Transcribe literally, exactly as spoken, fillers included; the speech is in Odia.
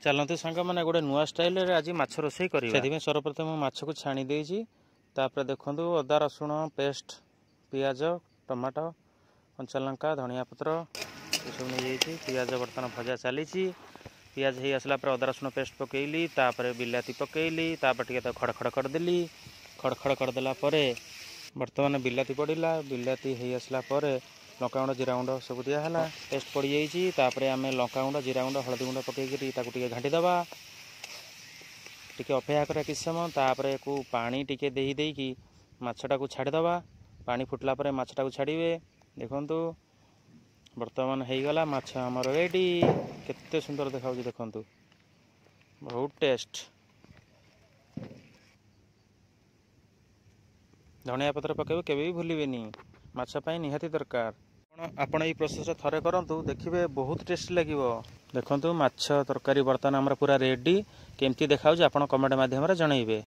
ଚାଲନ୍ତୁ ସାଙ୍ଗମାନେ, ଗୋଟେ ନୂଆ ଷ୍ଟାଇଲରେ ଆଜି ମାଛ ରୋଷେଇ କରିବା। ସେଥିପାଇଁ ସର୍ବପ୍ରଥମେ ମୁଁ ମାଛକୁ ଛାଣି ଦେଇଛି। ତାପରେ ଦେଖନ୍ତୁ, ଅଦା ରସୁଣ ପେଷ୍ଟ, ପିଆଜ, ଟମାଟୋ, କଞ୍ଚା ଲଙ୍କା, ଧନିଆ ପତ୍ର ଏସବୁ ନେଇଯାଇଛି। ପିଆଜ ବର୍ତ୍ତମାନ ଭଜା ଚାଲିଛି। ପିଆଜ ହେଇ ଆସିଲା ପରେ ଅଦା ରସୁଣ ପେଷ୍ଟ ପକେଇଲି, ତାପରେ ବିଲାତି ପକେଇଲି, ତାପରେ ଟିକେ ତାକୁ ଖଡ଼ ଖଡ଼ କରିଦେଲି। ଖଡ଼ ଖଡ଼ କରିଦେଲା ପରେ ବର୍ତ୍ତମାନ ବିଲାତି ପଡ଼ିଲା। ବିଲାତି ହେଇ ଆସିଲା ପରେ ଲଙ୍କାଗୁଣ୍ଡ, ଜିରା ଗୁଣ୍ଡ ସବୁ ଦିଆହେଲା। ପେଷ୍ଟ ପଡ଼ିଯାଇଛି। ତାପରେ ଆମେ ଲଙ୍କାଗୁଣ୍ଡ, ଜିରା ଗୁଣ୍ଡ, ହଳଦୀ ଗୁଣ୍ଡ ପକେଇକିରି ତାକୁ ଟିକେ ଘାଣ୍ଟି ଦେବା। ଟିକେ ଅପେକ୍ଷା କରିବା କିଛି ସମୟ। ତାପରେ କୁ ପାଣି ଟିକେ ଦେଇ ଦେଇକି ମାଛଟାକୁ ଛାଡ଼ିଦେବା। ପାଣି ଫୁଟିଲା ପରେ ମାଛଟାକୁ ଛାଡ଼ିବେ। ଦେଖନ୍ତୁ, ବର୍ତ୍ତମାନ ହେଇଗଲା ମାଛ ଆମର ରେଡ଼ି। କେତେ ସୁନ୍ଦର ଦେଖାଯାଉଛି ଦେଖନ୍ତୁ, ବହୁତ ଟେଷ୍ଟ। ଧନିଆ ପତ୍ର ପକାଇବେ, କେବେ ବି ଭୁଲିବେନି, ମାଛ ପାଇଁ ନିହାତି ଦରକାର। ଆପଣ ଆପଣ ଏଇ ପ୍ରୋସେସରେ ଥରେ କରନ୍ତୁ, ଦେଖିବେ ବହୁତ ଟେଷ୍ଟି ଲାଗିବ। ଦେଖନ୍ତୁ, ମାଛ ତରକାରୀ ବର୍ତ୍ତମାନ ଆମର ପୁରା ରେଡ଼ି। କେମିତି ଦେଖାଯାଉଛି ଆପଣ କମେଣ୍ଟ ମାଧ୍ୟମରେ ଜଣାଇବେ।